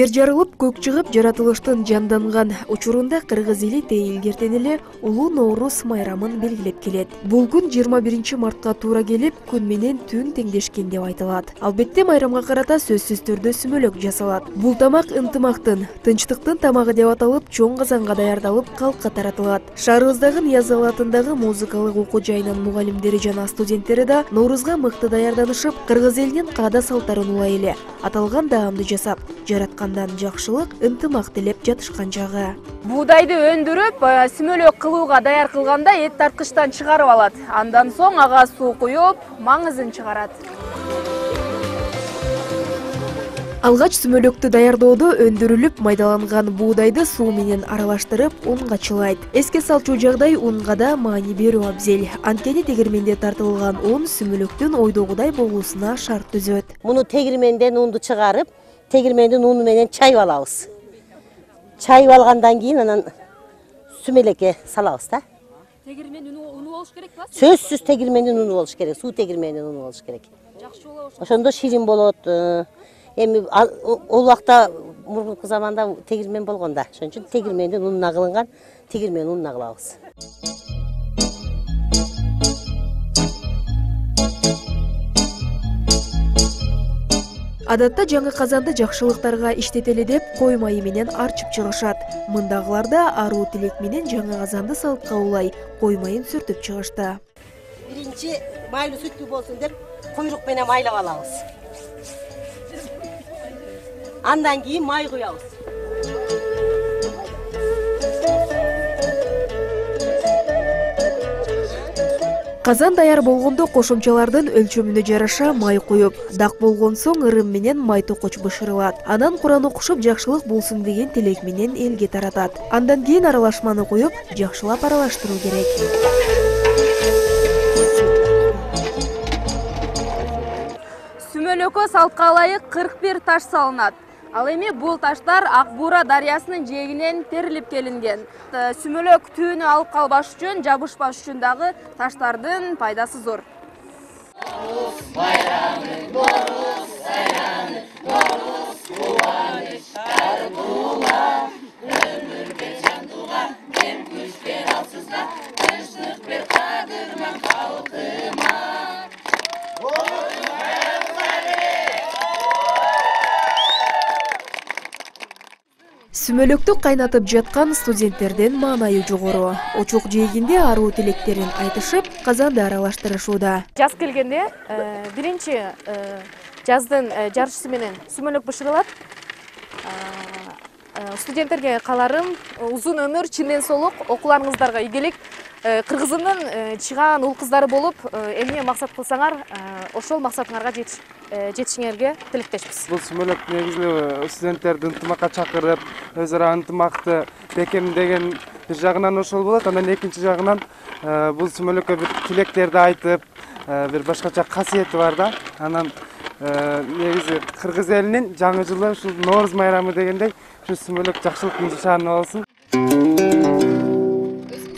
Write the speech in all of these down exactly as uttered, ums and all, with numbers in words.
Жер жарылып, көк чыгып, жаратылыштын жанданган учурунда кыргыз эли тейилгертен эле улуу Ноорус майрамын белгилеп келет. Бул күн жыйырма биринчи мартка туура келип, күн менен түн теңдешкен деп айтылат. Албетте майрамга карата сөзсүз түрдө сүмөлөк жасалат. Бул тамак ынтымактын, тынчтыктын тамагы деп аталып, чоң казанга даярдалып, калкка таратылат. Шаарыбыздагы Ниязалы атындагы музыкалык окуу жайынын мугалимдери жана студенттери да Ноорузга мыкты даярданышып, кыргыз элинин каада салттарын улай эле аталган даамды жасап, жараткандан жакшылык, ынтымак тилеп жатышкан жагы. Буудайды өндүрүп, сүмөлөк кылууга даяр кылганда эт тарткычтан чыгарып алат. Андан соң ага суу куюп, маңызын чыгарат. Алгач сүмөлөктү даярдоодо өндүрүлүп майдаланган буудайды суу менен аралаштырып унга чылайт. Эске салчу жагдай унга да маани берүү абзел. Анткени тегирменде тартылган un сүмөлөктүн ойдогудай болуусуна шарт түзөт. Муну тегирменден унду чыгарып, тегирмендин уну менен чайып алабыз. Чайып алгандан кийин анан сүмөлекке салабыз да. Тегирмендин уну болуш керек ба? Сөзсүз тегирмендин уну болуш керек, суу тегирмендин уну болуш керек. Жакшы болот. Ошондо ширин болот. Эми ол убакта мурунку заманда тегирмен болгон да. Ошон үчүн тегирмендин унуна кылынган тегирмен унуна кылабыз. Адатта жаңы казанды жакшылыктарга иштетели деп кой майы менен арчып чыгышат. Мындагыларда аруу тилек менен жаңы казанды салтка улай кой майын сүртүп чыгышты. Биринчи майлуу сүттүү болсун деп куйрук менен майлап алабыз. Андан кийин май куябыз. Казан даяр болгондо кошумчалардын өлчөмүнө жараша май куюп, дак болгон соң ырым менен май токоч бышырылат. Анан Куран окушуп жакшылык болсун деген тилек менен элге таратат. Андан кийин аралашманы куюп, жакшылап аралаштыруу керек. Сүмөлөккө салтка ылайык кырк бир таш салынат. Ал эми бул таштар Ак Буура дарыясынын жээгинен терилип келинген. Сүмөлөк түүнү алып калбаш үчүн, жабышпаш үчүн дагы таштардын пайдасы зор. Сүмөлөктү кайнатып жаткан студенттердин маанайы жогору. Очук жээгинде аруу тилектерин айтышып, казанды аралаштырышууда. Жаз келгенде биринчи жаздын жарышысы менен сүмөлөк бышырылат. Студенттерге кааларым узун өмүр, чын ден соолук, окууларыңыздарга ийгилик. Кыргызымдын чыгаан уул кыздары болуп, эмне максат кылсаңар, ошол максатыңарга жетишиңерге тилектешпиз. Бул сүмөлөк негизи студенттерди ынтымакка чакырып, өз ара ынтымакты бекемдеген бир жагынан ошол болот. Анан экинчи жагынан бул сүмөлөккө бир тилектерди айтып, бир башкача касиети бар да. Анан негизи кыргыз элинин жаңы жылы ушул Ноорус майрамы дегендей, ушу сүмөлөк жакшылыктын нышаны болсун.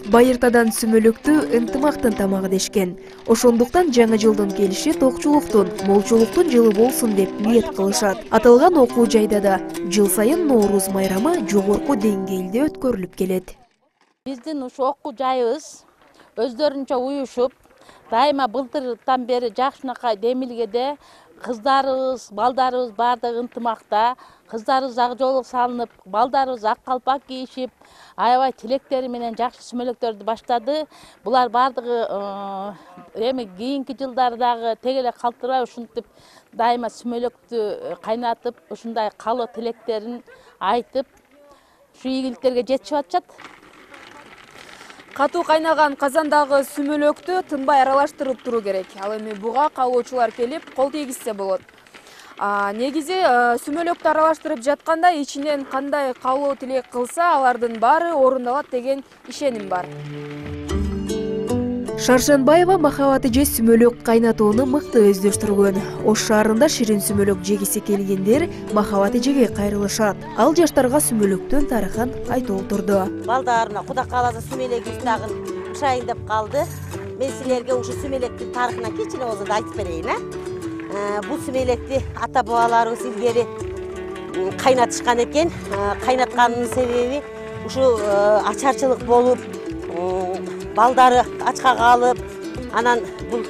Байыртадан сүмөлөктү ынтымактын тамагы дешкен. Ошондуктан жаңы жылдын келиши токчулуктун, молчулуктун жылы болсун деп ниет кылышат. Аталган окуу жайда да жыл сайын Ноорус майрамы жогорку деңгээлде өткөрүлүп келет. Биздин ушу окуу жайыбыз өздөрүнчө уюшуп, дайыма былтырдан бери жакшынакай демилгеде кыздарыбыз, балдарыбыз баардыгы ынтымакта, кыздарыбыз ак жолго салынып, балдарыбыз ак калпак кийишип, аябай тилектери менен жакшы сүмөлөктөрдү баштады. Булар баардыгы эми кийинки жылдары дагы тег эле калтырбай ушинтип дайыма сүмөлөктү кайнатып, ушундай каалоо тилектерин айтып, ушу ийгиликтерге жетишип атышат. Катуу кайнаган казандагы сүмөлөктү тынбай аралаштырып туруу керек. Ал эми буга каалоочулар келип, кол тийгизсе болот. Негизи сүмөлөктү аралаштырып жатканда ичинен кандай каалоо тилек кылса, алардын баары орундалат деген ишеним бар. Шаршанбаева махабаты же сүмөлөк кайнатууну мыкты өздөштүргөн. Ош шаарында ширин сүмөлөк жегиси келгендер махабаты жеге кайрылышат. Ал жаштарга сүмөлөктүн тарыхын айтып отурду. Балдарына Кудай кааласа сүмөлөгүбүз дагы ушайын деп калды. Мен силерге ушу сүмөлөктүн тарыхына кичине болсо да айтып берейин, а? Бул сүмөлекти ата бабаларыбыз илгери кайнатышкан экен. Кайнатканынын себеби ушу ачарчылык болуп, балдары ачка калып, анан бул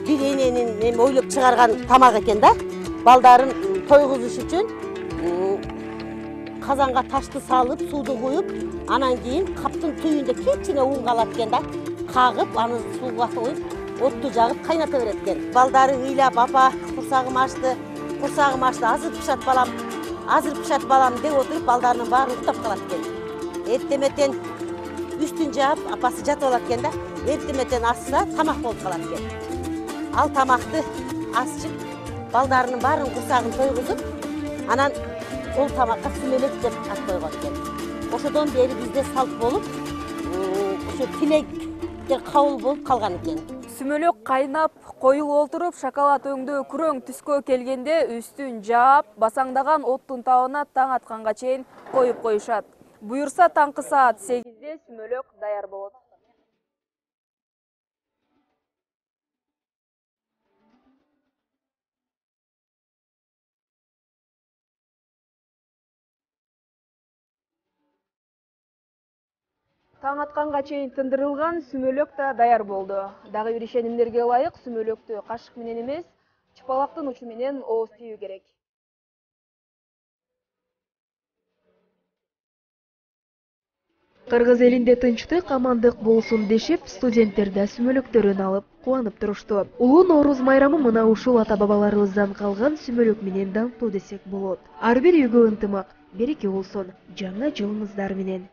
бир эненин эми ойлоп чыгарган тамак экен да. Балдарын тойгузуш үчүн казанга ташты салып, сууду куюп, анан кийин каптын түбүндө кичине un калат экен да. Кагып, аны сууга коюп, отту жагып кайната берет экен. Балдары ыйлап, апа, курсагым ачты, курсагым ачты, азыр пышат балам, азыр пышат балам деп отуруп, балдарынын баары уктап калат экен. Эртеметен үстүн жаап, апасы жатып алат экен да. Эртеметен асса, тамак болуп калат экен. Ал тамакты асчып, балдарынын баарын курсагын тойгузуп, анан ол тамакка сүмөлөк деп ат койгон экен. Ошодон бери бизде салт болуп, ошо тилектер кабыл болуп калган экен. Сүмөлөк кайнап, коюлуп олтуруп, шоколад өңдөө күрөң түскө келгенде үстүн жаап, басаңдаган оттун табына таң атканга чейин коюп коюшат. Буюрса таңкы саат сегизде сүмөлөк даяр болот. Таң атканга чейин тындырылган сүмөлөк да даяр болду. Дагы бир ишенимдерге ылайык сүмөлөктү кашык менен эмес, чыпалактын учу менен ооз тийүү керек. Кыргыз элинде тынчтык, амандык болсун дешип, студенттер да сүмөлөктөрүн алып кубанып турушту. Улуу Нооруз майрамы мына ушул ата-бабаларыбыздан калган сүмөлөк менен даңктуу десек болот. Ар бир үйгө ынтымак, береке болсун. Жаңы жылыңыздар менен.